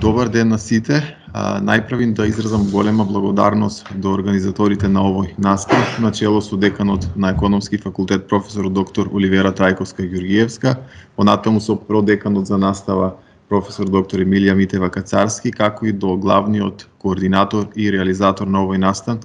Добар ден на сите. Најпрвин да изразам голема благодарност до организаторите на овој настав, начело со деканот на Економски факултет професор доктор Оливера Трајковска-Ѓурѓиевска, понатаму со продеканот за настава професор доктор Емилија Митева-Кацарски, како и до главниот координатор и реализатор на овој настан,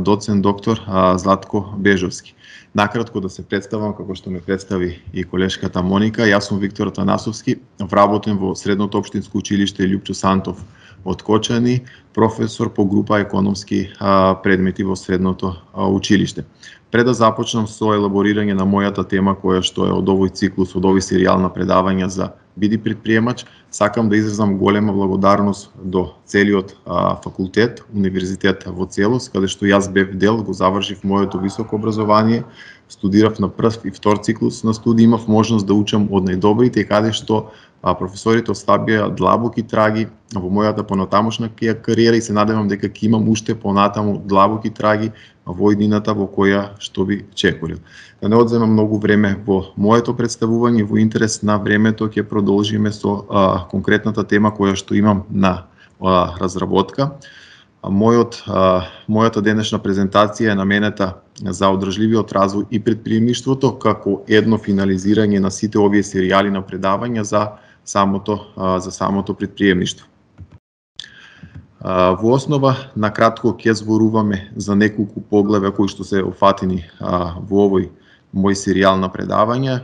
доцент доктор Златко Бежовски. Накратко да се представам, како што ме представи и колешката Моника, јас сум Виктор Танасовски, вработен во Средното општинско училиште Љупчо Сантов од Кочани, професор по група економски предмети во Средното училиште. Пред да започнам со елаборирање на мојата тема, која што е од овој циклус, од овој серијал на предавања за Биди предприемач, сакам да изразам голема благодарност до целиот факултет, универзитет во целост, каде што јас бев дел, го завршив моето високо образование, студирав на прв и втор циклус на студии, имав можност да учам од најдобрите, каде што професорите оставија длабоки траги во мојата понатамошна кариера и се надевам дека ќе имам уште понатаму длабоки траги во иднината во која што би чекорил. Да не одземам многу време во моето представување, во интерес на времето ќе продолжиме со конкретната тема која што имам на разработка. Мојата денешна презентација е наменета за одржливиот развој и предприемништвото како едно финализирање на сите овие серијали на предавања за самото предприемништво. Во основа, накратко ќе зборуваме за неколку поглавја кои што се офатени во овој мој серијал на предавања.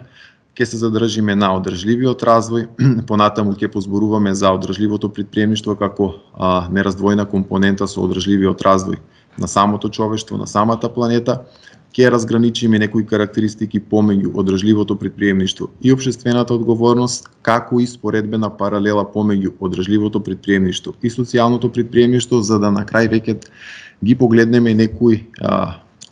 Ќе се задржиме на одржливиот развој, понатаму ќе позборуваме за одржливото предприемништво како нераздвојна компонента со одржливиот развој на самото човештво, на самата планета. Ќе разграничиме некои карактеристики помеѓу одржливото предприемништво и општествената одговорност, како и споредбена паралела помеѓу одржливото предприемништво и социјалното предприемништво, за да на крај веќе ги погледнеме некои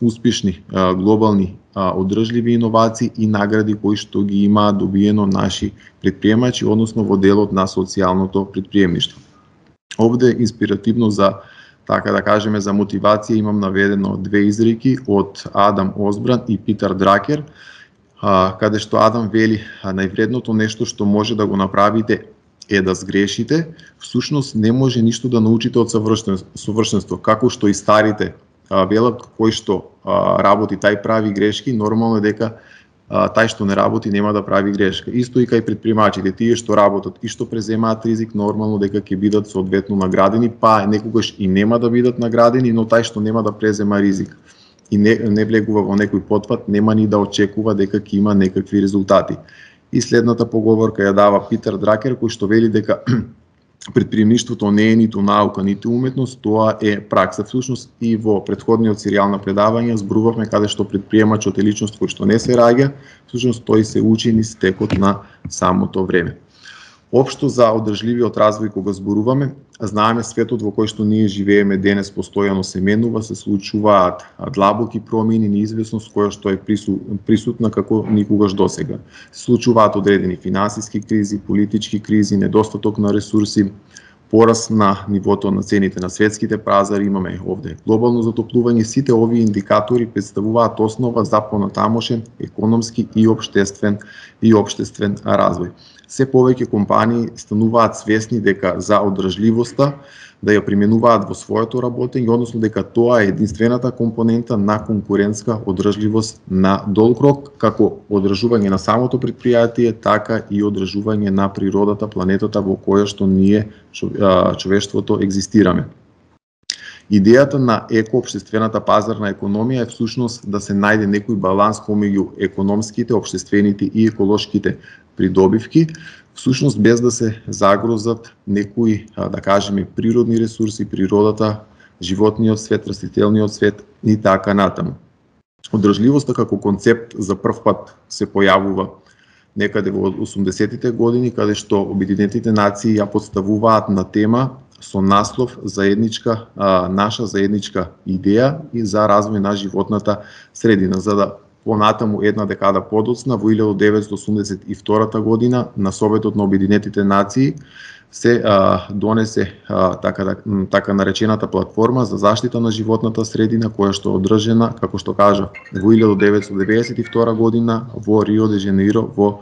успешни глобални одржливи иновации и награди кои што ги имаат добиено наши предприемачи, односно во делот на социјалното предприемништво. Овде инспиративно за така да кажеме за мотивација имам наведено две изреки од Адам Осбран и Питер Дракер, каде што Адам вели највредното нешто што може да го направите е да сгрешите, всушност не може ништо да научите од совршенство, како што и старите велат, кој што работи тај прави грешки, нормално е дека тај што не работи нема да прави грешка. Исто и кај предприемачите, тие што работат и што преземаат ризик, нормално дека ќе бидат соодветно наградени, па некогаш и нема да бидат наградени, но тај што нема да презема ризик и не влегува во некој потпат, нема ни да очекува дека ќе има некакви резултати. И следната поговорка ја дава Питер Дракер, кој што вели дека предприемништвото не е ниту наука, ниту уметност, тоа е пракса. Всушност и во претходниот серијал на предавања зборувавме каде што предприемачот е личност кој што не се раѓа, всушност тој се учи низ текот на самото време. Општо за одржливиот развој кога зборуваме, знаеме светот во кој што ние живееме денес постојано се менува, се случуваат длабоки промени, неизвестност која што е присутна како никогаш досега. Се случуваат одредени финансиски кризи, политички кризи, недостаток на ресурси, пораст на нивото на цените на светските пазари, имаме овде глобално затоплување. Сите овие индикатори представуваат основа за понатамошен економски и општествен развој. Се повеќе компании стануваат свесни дека за одржливоста да ја применуваат во своето работење, односно дека тоа е единствената компонента на конкурентска одржливост на долг рок, како одржување на самото предпријатие, така и одржување на природата, планетата во која што ние човештвото екзистираме. Идејата на екоопштествената пазарна економија е всушност да се најде некој баланс помеѓу економските, општествените и еколошките придобивки, всушност без да се загрозат некои, да кажеме, природни ресурси, природата, животниот свет, растителниот свет и така натаму. Одржливоста како концепт за прв пат се појавува некаде во 80-тите години, каде што Обединетите нации ја подставуваат на тема со наслов наша заедничка идеја и за развој на животната средина, за да понатаму една декада подоцна, во 1982 година, на Советот на Обединетите нации се донесе така наречената платформа за заштита на животната средина, која што е одржена, како што кажа, во 1992 година во Рио де Жанеиро во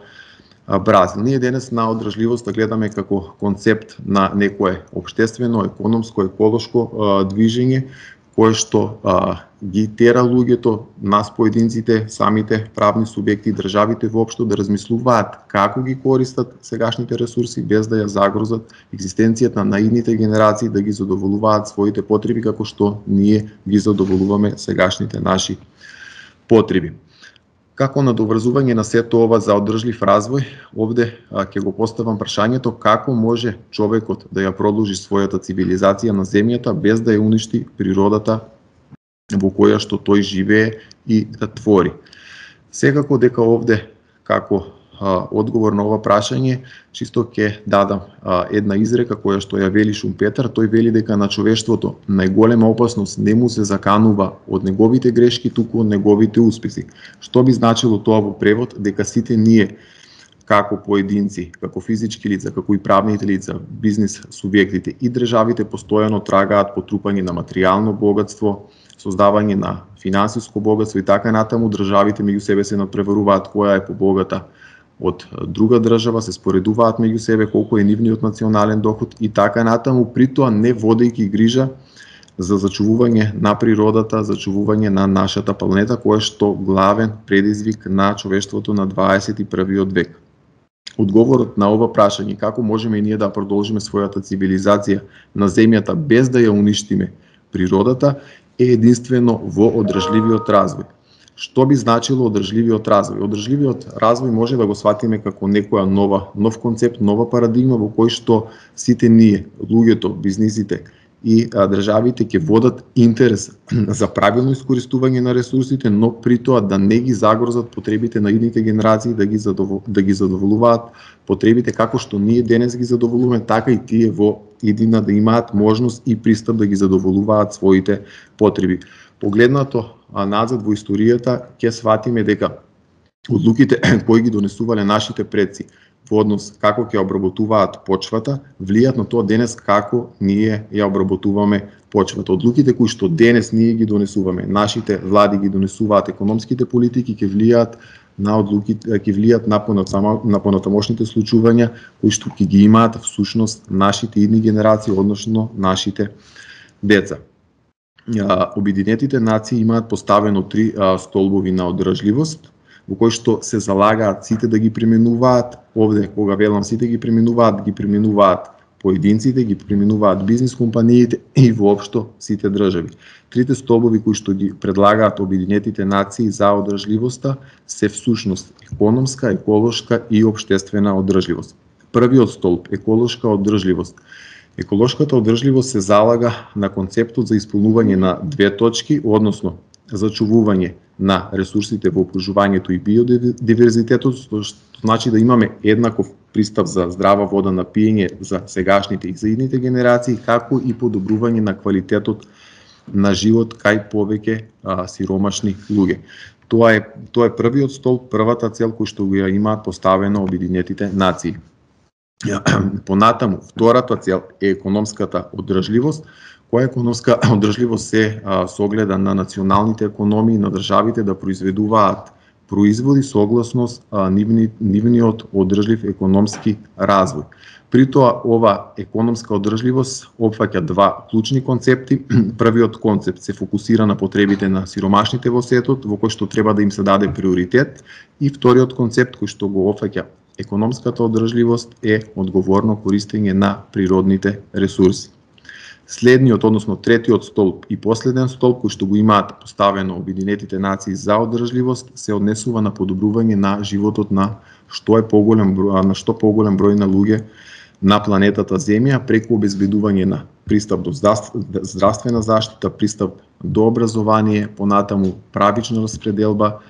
Бразил. Ние денес на одржливоста гледаме како концепт на некое општествено, економско, еколошко движење, кое што ги тера луѓето, нас поединците, самите правни субјекти и државите воопшто да размислуваат како ги користат сегашните ресурси без да ја загрозат екзистенцијата на идните генерации, да ги задоволуваат своите потреби како што ние ги задоволуваме сегашните наши потреби. Како надоврзување на сето ова за одржлив развој, овде ќе го поставам прашањето како може човекот да ја продолжи својата цивилизација на земјата без да ја уништи природата во која што тој живее и да твори. Секако дека овде како одговор на ова прашање чисто ќе дадам една изрека која што ја вели Шумпетер. Тој вели дека на човештвото најголема опасност не му се заканува од неговите грешки, туку од неговите успеси. Што би значило тоа во превод? Дека сите ние како поединци, како физички лица, како и правните лица, бизнис субјектите и државите постојано трагаат по трупање на материјално богатство, создавање на финансиско богатство и така натаму. Државите меѓу себе се надпреваруваат која е побогата од друга држава, се споредуваат меѓу себе колку е нивниот национален доход и така натаму, при тоа не водејќи грижа за зачувување на природата, зачувување на нашата планета, која што главен предизвик на човештвото на 21 век. Одговорот на ова прашање, како можеме и ние да продолжиме својата цивилизација на земјата без да ја уништиме природата, е единствено во одржливиот развој. Што би значило одржливиот развој? Одржливиот развој може да го сватиме како некоја нов концепт, нова парадигма во кој што сите ние, луѓето, бизнисите и државите ќе водат интерес за правилно искористување на ресурсите, но при тоа да не ги загрозат потребите на идните генерации, да ги задоволуваат потребите како што ние денес ги задоволуваме, така и тие во иднина да имаат можност и пристап да ги задоволуваат своите потреби. Погледнато назад во историјата ќе сватиме дека одлуките кои ги донесувале нашите предци во однос како ќе обработуваат почвата, влијат на тоа денес како ние ја обработуваме почвата. Одлуките кои што денес ние ги донесуваме, нашите влади ги донесуваат, економските политики ќе влијат на одлуките, ќе влијат на понатамошните случувања кои што ќе ги имаат всушност нашите идни генерации, односно нашите деца. Обединетите нации имаат поставено 3 столбови на одржливост, во кои што се залагаат сите да ги применуваат. Овде, кога велам сите ги применуваат поединците, ги применуваат бизнис компаниите и воопшто сите држави. Трите столбови кои што ги предлагаат Обединетите нации за одржливоста се всушност економска, еколошка и општествена одржливост. Првиот столб, еколошка одржливост. Еколошката одржливост се залага на концептот за исполнување на 2 точки, односно зачувување на ресурсите во опружувањето и биодиверзитетот, што значи да имаме еднаков пристап за здрава вода на пиење за сегашните и за идните генерации, како и подобрување на квалитетот на живот кај повеќе сиромашни луѓе. Тоа е првиот столб, првата цел кој што ја имаат поставено Обединетите нации. Понатаму, втората цел е економската одржливост, која економска одржливост се согледа на националните економии на државите да произведуваат производи согласно нивниот одржлив економски развој. При тоа, ова економска одржливост опфаќа 2 клучни концепти. Првиот концепт се фокусира на потребите на сиромашните во светот, во кој што треба да им се даде приоритет, и вториот концепт кој што го опфаќа економската одржливост е одговорно користење на природните ресурси. Следниот, односно третиот столб и последен столб кој што го имаат поставено Обединетите нации за одржливост се однесува на подобрување на животот на што поголем број на луѓе на планетата Земја преку обезбедување на пристап до здравствена заштита, пристап до образование, понатаму правична распределба,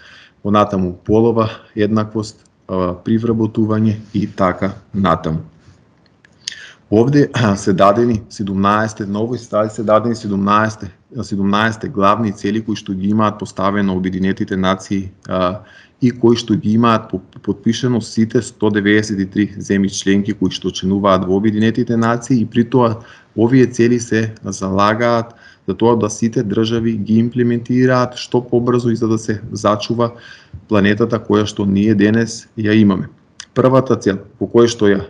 понатаму полова еднаквост при вработување и така натаму. Овде се дадени 17 главни цели кои што ги имаат поставено Обединетите нации и кои што ги имаат потпишано сите 193 земји членки кои што членуваат во Обединетите нации, и при тоа овие цели се залагаат за тоа да сите држави ги имплементираат што побрзо и за да се зачува планетата која што ние денес ја имаме. Првата цел по која што ја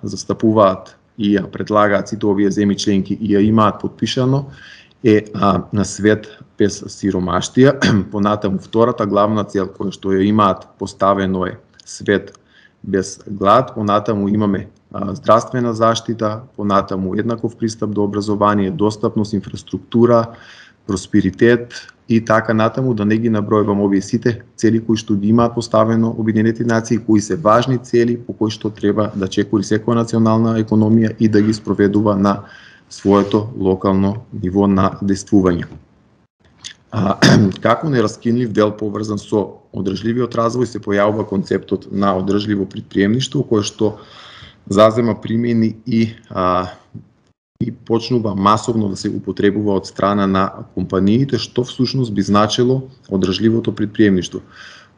застапуваат и ја предлагаат сите овие земји членки и ја имаат подпишано е на свет без сиромаштија. Понатаму втората главна цел која што ја имаат поставено е свет без глад. Понатаму имаме здравствена заштита, понатаму еднаков пристап до образование, достапност, инфраструктура, просперитет и така натаму, да не ги набројувам овие сите цели кои што ги имаат поставено Обединетите нации, кои се важни цели по кои што треба да чекори секоја национална економија и да ги спроведува на своето локално ниво на действување. Како нераскинлив дел поврзан со одржливиот развој се појавува концептот на одржливо претприемништво, кој што зазема примени и почнува масовно да се употребува од страна на компаниите, што всушност би значило одржливото претприемништво.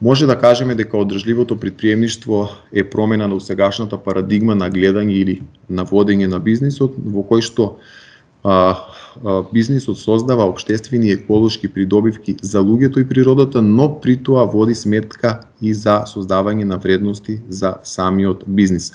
Може да кажеме дека одржливото претприемништво е промена на усегашната парадигма на гледање или на водење на бизнисот, во кој што бизнисот создава општествени и еколошки придобивки за луѓето и природата, но при тоа води сметка и за создавање на вредности за самиот бизнис.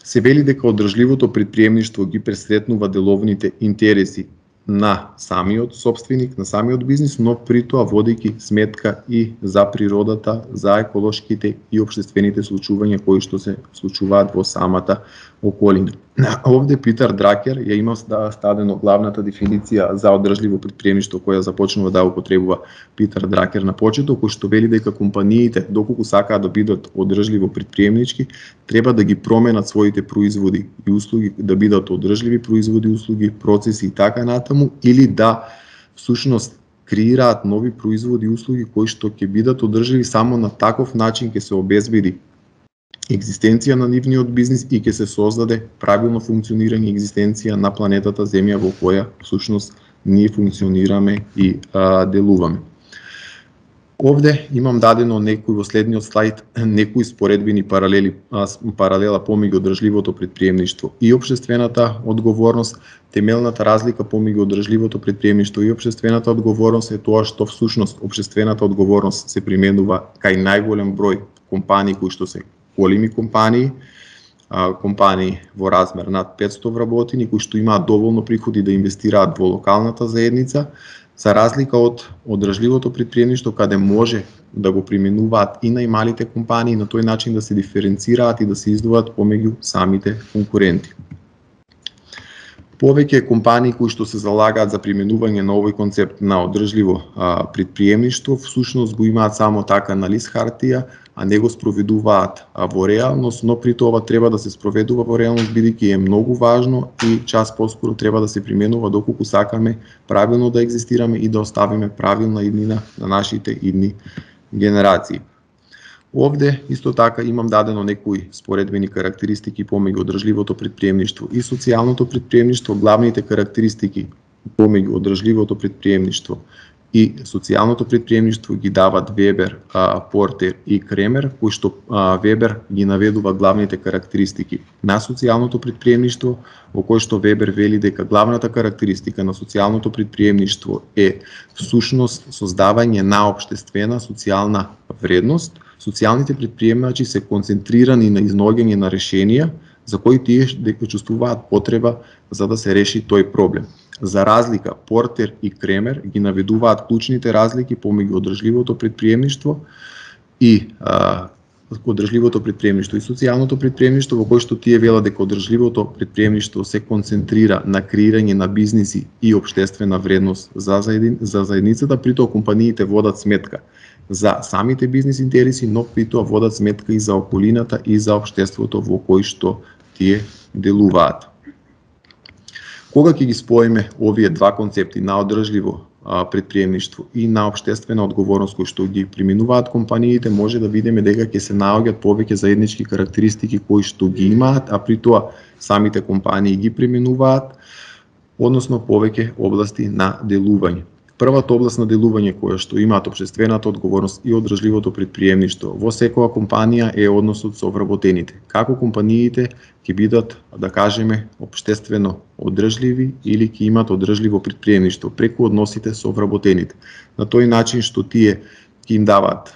Се вели дека одржливото претприемништво ги пресретнува деловните интереси на самиот собственик, на самиот бизнис, но при тоа водејќи сметка и за природата, за еколошките и општествените случувања кои што се случуваат во самата околина. Овде Питер Дракер ја има стадено главната дефиниција за одржливо претприемништво која започнува да употребува Питер Дракер на почеток, кој што вели дека компаниите, доколку сакаат да бидат одржливо претприемнички, треба да ги променат своите производи и услуги, да бидат одржливи производи, услуги, процеси и така натаму, или да всушност креираат нови производи и услуги кои што ќе бидат одржливи. Само на таков начин ќе се обезбеди екзистенција на нивниот бизнис и ќе се создаде правилно функционирање и екзистенција на планетата Земја во која всушност ние функционираме и делуваме. Овде имам дадено некои во следниот слайд некои споредбени паралела помеѓу одржливото претприемништво и општествената одговорност. Темелната разлика помеѓу одржливото претприемништво и општествената одговорност е тоа што всушност општествената одговорност се применува кај најголем број компании кои што се големи компании во размер над 500 вработени, кои што имаат доволно приходи да инвестираат во локалната заедница, за разлика од одржливото претприемништво каде може да го применуваат и најмалите компании, на тој начин да се диференцираат и да се издвојат помеѓу самите конкуренти. Повеќе компании кои што се залагаат за применување на овој концепт на одржливо претприемништво всушност го имаат само така на лист хартија, а не го спроведуваат во реалност, но при тоа треба да се спроведува во реалност бидејќи е многу важно и час поскоро треба да се применува доколку сакаме правилно да екзистираме и да оставиме правилна иднина на нашите идни генерации. Овде исто така имам дадено некои споредбени карактеристики помеѓу одржливото претприемништво и социјалното претприемништво. Главните карактеристики помеѓу одржливото претприемништво и социјалното претприемништво ги дават Вебер, Портер и Кремер, кои што Вебер ги наведува главните карактеристики на социјалното претприемништво, во кој што Вебер вели дека главната карактеристика на социјалното претприемништво е всушност создавање на општествена социјална вредност. Социјалните претприемачи се концентрирани на изнаоѓање на решенија за кои тие дека чувствуваат потреба за да се реши тој проблем. За разлика, Портер и Кремер ги наведуваат клучните разлики помеѓу одржливото претприемништво и одржливото претприемништво и социјалното претприемништво, во кој што тие велат дека одржливото претприемништво се концентрира на креирање на бизниси и општествена вредност за заедницата, при тоа компаниите водат сметка за самите бизнис интереси, но при тоа водат сметка и за околината и за општеството во кој што тие делуваат. Кога ќе ги споиме овие два концепти на одржливо претприемништво и на општествена одговорност кои што ги применуваат компаниите, може да видиме дека ќе се наоѓаат повеќе заеднички карактеристики кои што ги имаат, а при тоа самите компании ги применуваат, односно повеќе области на делување. Првата област на делување која што имаат општествената одговорност и одржливото претприемништво во секоја компанија е односот со вработените. Како компаниите ќе бидат, да кажеме, општествено одржливи или ќе имат одржливо претприемништво преку односите со вработените. На тој начин што тие ќе им дават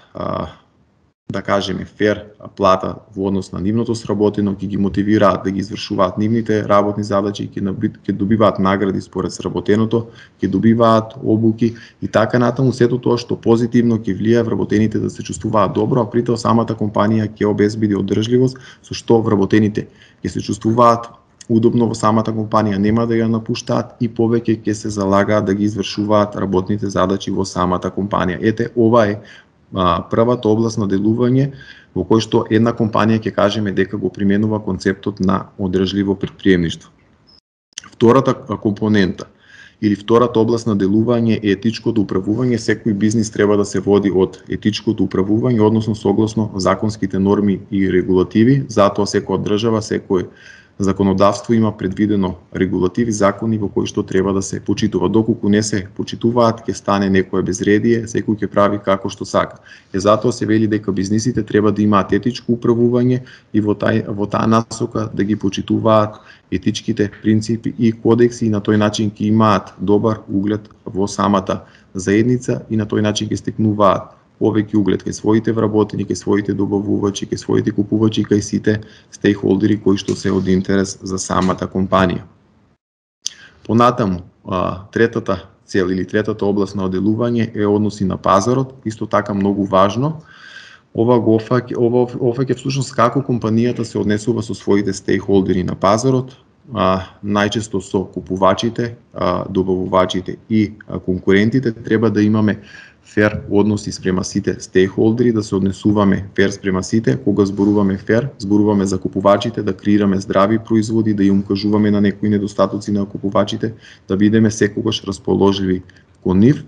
да кажеме, фер плата во однос на нивното сработено, ќе ги мотивираат да ги извршуваат нивните работни задачи, ќе добиваат награди според сработеното, ќе добиваат обуки и така натаму, сето тоа што позитивно ќе влијае вработените да се чувствуваат добро, а при тоа самата компанија ќе обезбеди одржливост, со што вработените ќе се чувствуваат удобно во самата компанија, нема да ја напуштаат и повеќе ќе се залагаат да ги извршуваат работните задачи во самата компанија. Ете, ова е првата област на делување во кој што една компанија ќе кажеме дека го применува концептот на одржливо претприемништво. Втората компонента или втората област на делување е етичкото управување. Секој бизнис треба да се води од етичкото управување, односно согласно законските норми и регулативи. Затоа секоја држава, секој законодавство има предвидено регулативи, закони во кои што треба да се почитува. Доколку не се почитуваат, ќе стане некое безредие, секој ќе прави како што сака. Затоа се вели дека бизнисите треба да имаат етичко управување и во таа насока да ги почитуваат етичките принципи и кодекси и на тој начин ќе имаат добар углед во самата заедница и на тој начин ќе стекнуваат повеќе углед кај своите вработени, кај своите добавувачи, кај своите купувачи, кај сите стейкхолдери кои што се од интерес за самата компанија. Понатаму, третата цел или третата област на делување е односи на пазарот, исто така многу важно. Ова офаќа всушност како компанијата се однесува со своите стейкхолдери на пазарот, најчесто со купувачите, добавувачите и конкурентите. Треба да имаме фер односи спрема сите стейкхолдери, да се однесуваме фер спрема сите. Кога зборуваме фер, зборуваме за купувачите, да креираме здрави производи, да им укажуваме на некои недостатоци на купувачите, да бидеме секогаш расположливи кон нив.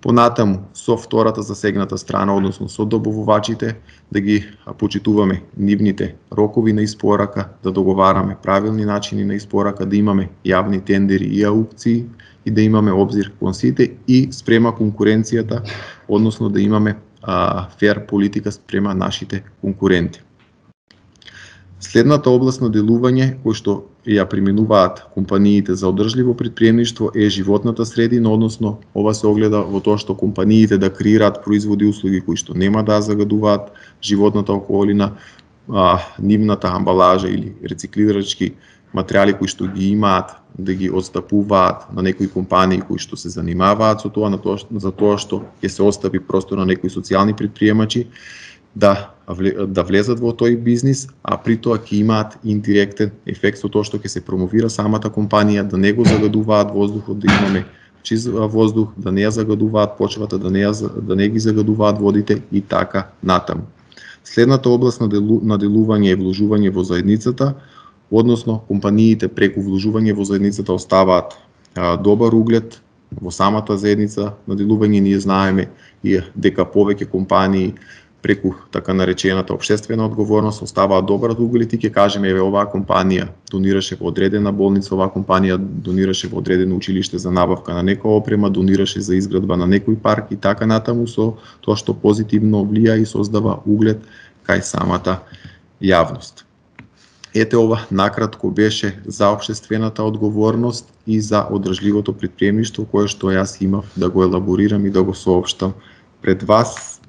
Понатаму, со втората засегната страна, односно со добавувачите, да ги почитуваме нивните рокови на испорака, да договараме правилни начини на испорака, да имаме јавни тендери и аукции и да имаме обзир кон сите и спрема конкуренцијата, односно да имаме фер политика спрема нашите конкуренти. Следната област на делување кој што ја применуваат компаниите за одржливо претприемништво е животната средина, односно ова се огледа во тоа што компаниите да креираат производи и услуги кои што нема да загадуваат животната околина, нивната амбалажа или рециклирачки материјали кои што ги имаат да ги отстапуваат на некои компании кои што се занимаваат со тоа, за тоа што ќе се остави простор на некои социјални претприемачи да влезат во тој бизнис, а при тоа ќе имаат индиректен ефект со тоа што ќе се промовира самата компанија, да не го загадуваат воздухот, да имаме чист воздух, да не ја загадуваат почвата, да не ги загадуваат водите и така натаму. Следната област на делување е вложување во заедницата, односно компаниите преку вложување во заедницата оставаат добар углед во самата заедница на делување. Ние знаеме и дека повеќе компании преку така наречената општествена одговорност оставаат добар углед и ќе кажеме еве оваа компанија донираше во одредена болница, оваа компанија донираше во одредено училиште за набавка на некоја опрема, донираше за изградба на некој парк и така натаму, со тоа што позитивно влија и создава углед кај самата јавност. Ете ова накратко беше за општествената одговорност и за одржливото претприемништво кое што јас имав да го елаборирам и да го соопштам пред вас.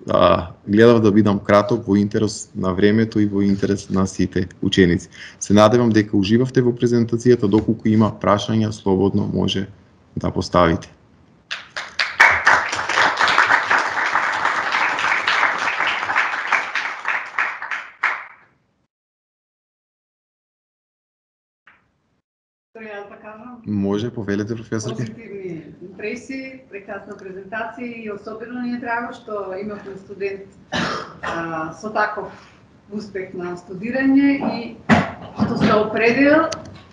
Гледав да бидам краток во интерес на времето и во интерес на сите ученици. Се надевам дека уживавте во презентацијата, доколку има прашања, слободно може да поставите. Може, повелете, професорке. Позитивни импресии, прекрасна презентација и особено ни е драго што имавме студент со таков успех на студирање и што се определил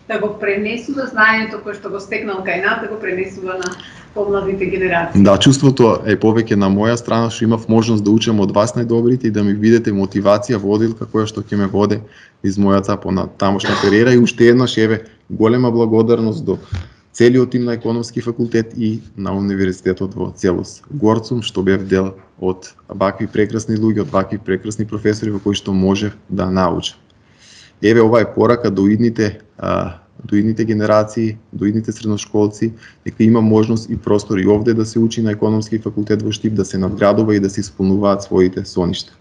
да го пренесува знаењето кое што го стекнал кај нас, да го пренесува на помладите генерации. Да, чувството е повеќе на моја страна што имав можност да учам од вас најдобрите и да ми бидете мотивација водилка која што ќе ме воде из мојата понатамошна кариера. И уште еднаш еве голема благодарност до целиот тим на Економски факултет и на универзитетот во целост. Горд сум што бев дел од вакви прекрасни луѓе, од вакви прекрасни професори во кои што можев да научам. Еве ова е порака до идните генерации, до идните средношколци, дека има можност и простор и овде да се учи на Економски факултет во Штип, да се надградува и да се исполнуваат своите соништа.